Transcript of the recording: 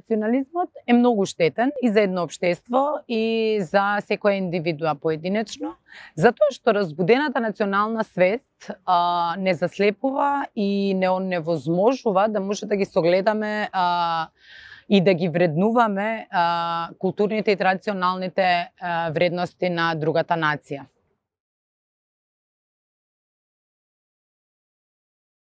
национализмот е многу штетен и за едно општество и за секоја индивидуа поединечно, затоа што разбудената национална свест не заслепува и не оневозможува да може да ги согледаме и да ги вреднуваме културните и традиционалните вредности на другата нација.